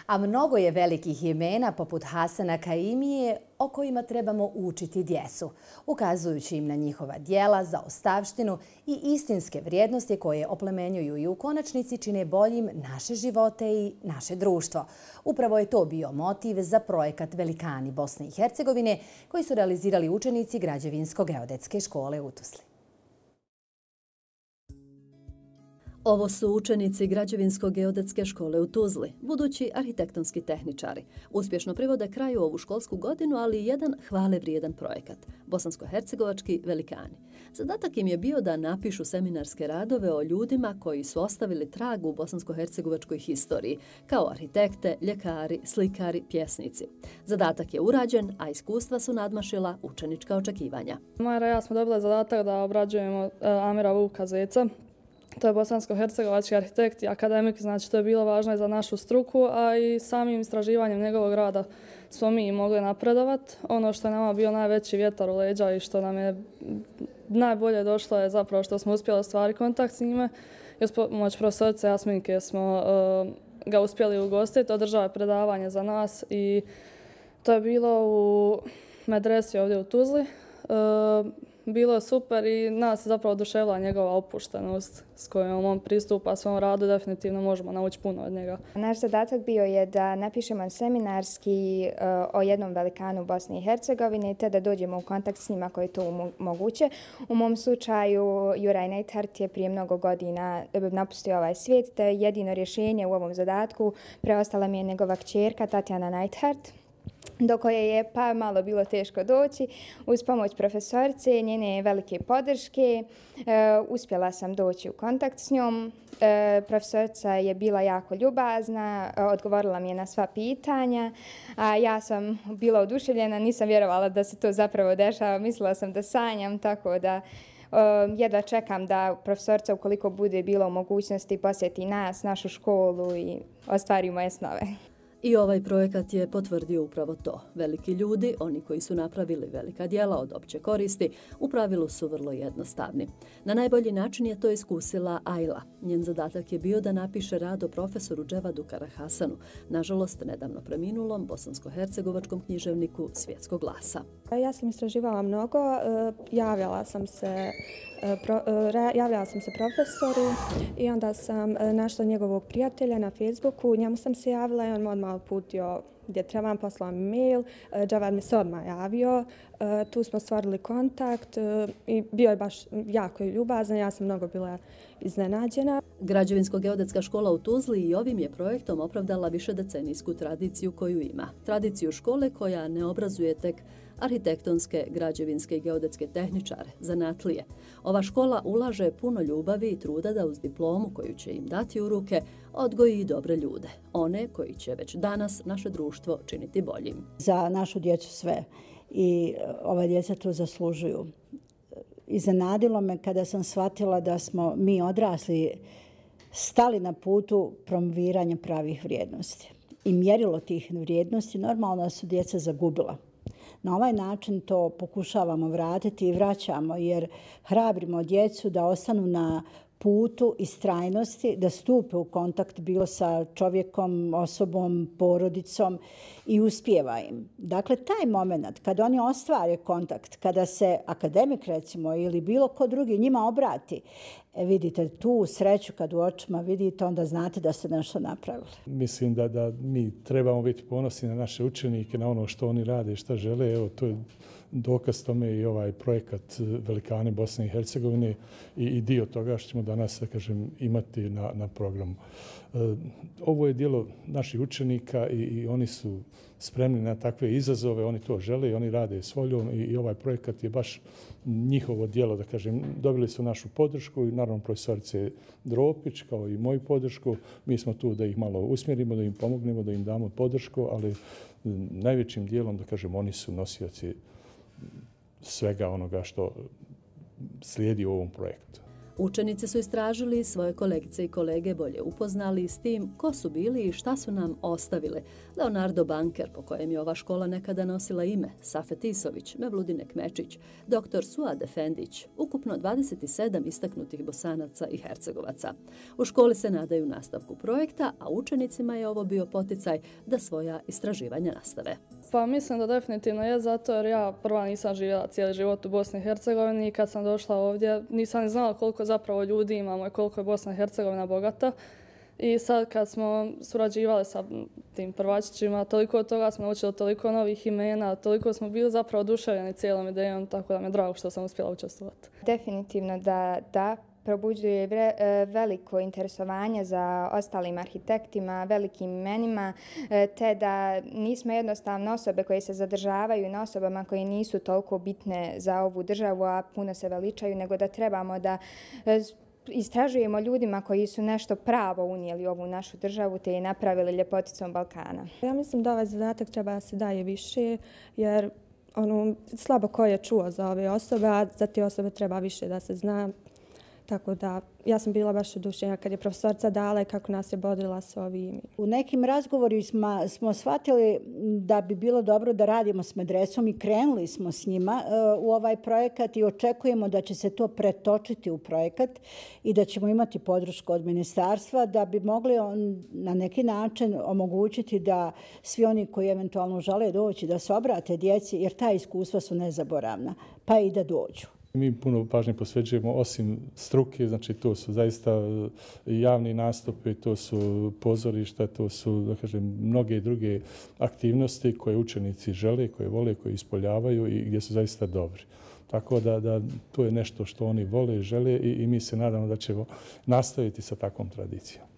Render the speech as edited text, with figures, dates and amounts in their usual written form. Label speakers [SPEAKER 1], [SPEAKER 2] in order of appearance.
[SPEAKER 1] A mnogo je velikih imena poput Hasana Kaimije o kojima trebamo učiti djecu, ukazujući im na njihova djela, zaostavštinu i istinske vrijednosti koje oplemenjuju i u konačnici čine boljim naše živote i naše društvo. Upravo je to bio motiv za projekat Velikani Bosne i Hercegovine koji su realizirali učenici Građevinsko-geodetske škole u Tuzli.
[SPEAKER 2] Ovo su učenici Građevinsko-geodetske škole u Tuzli, budući arhitektonski tehničari. Uspješno privode kraju ovu školsku godinu, ali i jedan hvale vrijedan projekat – bosansko-hercegovački Velikani. Zadatak im je bio da napišu seminarske radove o ljudima koji su ostavili trag u bosansko-hercegovačkoj historiji, kao arhitekte, ljekari, slikari, pjesnici. Zadatak je urađen, a iskustva su nadmašila učenička očekivanja.
[SPEAKER 3] Majra i ja smo dobili zadatak da obrađujemo Amira Vuka Zeca. To je bosansko-hercegovački arhitekt i akademik, znači to je bilo važno i za našu struku, a i samim istraživanjem njegovog rada smo mi mogli napredovati. Ono što je nama bio najveći vjetar u leđa i što nam je najbolje došlo je zapravo što smo uspjeli ostvariti kontakt s njime. I uz pomoć profesorice Jasminke smo ga uspjeli ugostiti, održao je predavanje za nas i to je bilo u medresi ovdje u Tuzli. Bilo je super i nas je zapravo oduševila njegova opuštenost s kojom on pristupa svom radu. Definitivno možemo naučiti puno od njega.
[SPEAKER 4] Naš zadatak bio je da napišemo seminarski o jednom velikanu Bosne i Hercegovine te da dođemo u kontakt s njima koji to moguće. U mom slučaju Juraj Neidhardt je prije mnogo godina napustio ovaj svijet te jedino rješenje u ovom zadatku preostala mi je njegova kćerka Tatjana Neidhardt, do koje je pa malo bilo teško doći. Uz pomoć profesorice, njene velike podrške, uspjela sam doći u kontakt s njom. Profesorica je bila jako ljubazna, odgovorila mi je na sva pitanja, a ja sam bila oduševljena, nisam vjerovala da se to zapravo dešava, mislila sam da sanjam, tako da jedva čekam da profesorica, ukoliko bude bila u mogućnosti, posjeti nas, našu školu i ostvari moje snove.
[SPEAKER 2] I ovaj projekat je potvrdio upravo to. Veliki ljudi, oni koji su napravili velika djela od opće koristi, u pravilu su vrlo jednostavni. Na najbolji način je to iskusila Ajla. Njen zadatak je bio da napiše rad o profesoru Dževadu Karahasanu, nažalost nedavno preminulom bosansko-hercegovačkom književniku svjetskog glasa.
[SPEAKER 5] Ja sam istraživala mnogo, javljala sam se profesoru i onda sam našla njegovog prijatelja na Facebooku. Njemu sam se javila i on me odmah uputio gdje trebam, poslao mi mail. Džavad mi se odmah javio. Tu smo stvorili kontakt i bio je baš jako ljubazan. Ja sam mnogo bila iznenađena.
[SPEAKER 2] Građevinsko-geodetska škola u Tuzli i ovim je projektom opravdala višedecenijsku tradiciju koju ima. Tradiciju škole koja ne obrazuje tek arhitektonske, građevinske i geodetske tehničare, zanatlije. Ova škola ulaže puno ljubavi i truda da uz diplomu koju će im dati u ruke odgoji i dobre ljude, one koji će već danas naše društvo činiti boljim.
[SPEAKER 6] Za našu djecu sve i ova djeca to zaslužuju. Iznenadilo me kada sam shvatila da smo mi odrasli stali na putu promoviranja pravih vrijednosti. I mjerilo tih vrijednosti normalno su djeca zagubila. Na ovaj način to pokušavamo vratiti i vraćamo jer hrabrimo djecu da ostanu na putu istrajnosti, da stupe u kontakt bilo sa čovjekom, osobom, porodicom i uspijeva im. Dakle, taj moment kada oni ostvare kontakt, kada se akademik recimo ili bilo ko drugi njima obrati, vidite tu sreću kad u očima vidite, onda znate da ste nešto napravili.
[SPEAKER 7] Mislim da mi trebamo biti ponosni na naše učenike, na ono što oni rade i što žele. Evo, to je dokaz tome i ovaj projekat Velikani Bosne i Hercegovine i dio toga što ćemo danas, da kažem, imati na programu. Ovo je djelo naših učenika i oni su spremni na takve izazove, oni to žele i oni rade s voljom i ovaj projekat je baš njihovo djelo, da kažem. Dobili su našu podršku i naravno profesorice Dropić kao i moju podršku. Mi smo tu da ih malo usmjerimo, da im pomognemo, da im damo podršku, ali najvećim dijelom, da kažem, oni su nosioci svega onoga što slijedi u ovom projektu.
[SPEAKER 2] Učenici su istražili, svoje kolegice i kolege bolje upoznali s tim ko su bili i šta su nam ostavili. Leonardo Banker, po kojem je ova škola nekada nosila ime, Safet Isović, Mevludine Kmečić, dr. Suad Efendić, ukupno 27 istaknutih Bosanaca i Hercegovaca. U školi se nadaju nastavku projekta, a učenicima je ovo bio poticaj da svoja istraživanja nastave.
[SPEAKER 3] Pa mislim da definitivno je zato jer ja prva nisam živjela cijeli život u Bosni i Hercegovini i kad sam došla ovdje nisam ni znala koliko zapravo ljudi imamo i koliko je Bosna i Hercegovina bogata. I sad kad smo surađivali sa tim prvačićima, toliko od toga smo naučili, toliko novih imena, toliko smo bili zapravo oduševljeni cijelom idejom, tako da mi je drago što sam uspjela učestvovati.
[SPEAKER 4] Definitivno da probuđuje veliko interesovanje za ostalim arhitektima, velikim imenima, te da nismo jednostavno osobe koje se zadržavaju na osobama koje nisu toliko bitne za ovu državu, a puno se veličaju, nego da trebamo da istražujemo ljudima koji su nešto pravo unijeli u ovu našu državu te je napravili ljepoticom Balkana.
[SPEAKER 5] Ja mislim da ovaj zadatak treba da se daje više, jer slabo ko je čuo za ove osobe, a za te osobe treba više da se zna. Tako da, ja sam bila baš oduševljena kad je profesorica dala i kako nas je bodrila s ovim.
[SPEAKER 6] U nekim razgovorima smo shvatili da bi bilo dobro da radimo s medresom i krenuli smo s njima u ovaj projekat i očekujemo da će se to pretočiti u projekat i da ćemo imati podršku od ministarstva da bi mogli na neki način omogućiti da svi oni koji eventualno žele doći da se obrate djeci, jer ta iskustva su nezaboravna, pa i da dođu.
[SPEAKER 7] Mi puno pažnje posvećujemo osim struke, znači to su zaista javni nastupi, to su pozorišta, to su, da kažem, mnoge druge aktivnosti koje učenici žele, koje vole, koje ispoljavaju i gdje su zaista dobri. Tako da to je nešto što oni vole i žele i mi se nadamo da ćemo nastaviti sa takvom tradicijom.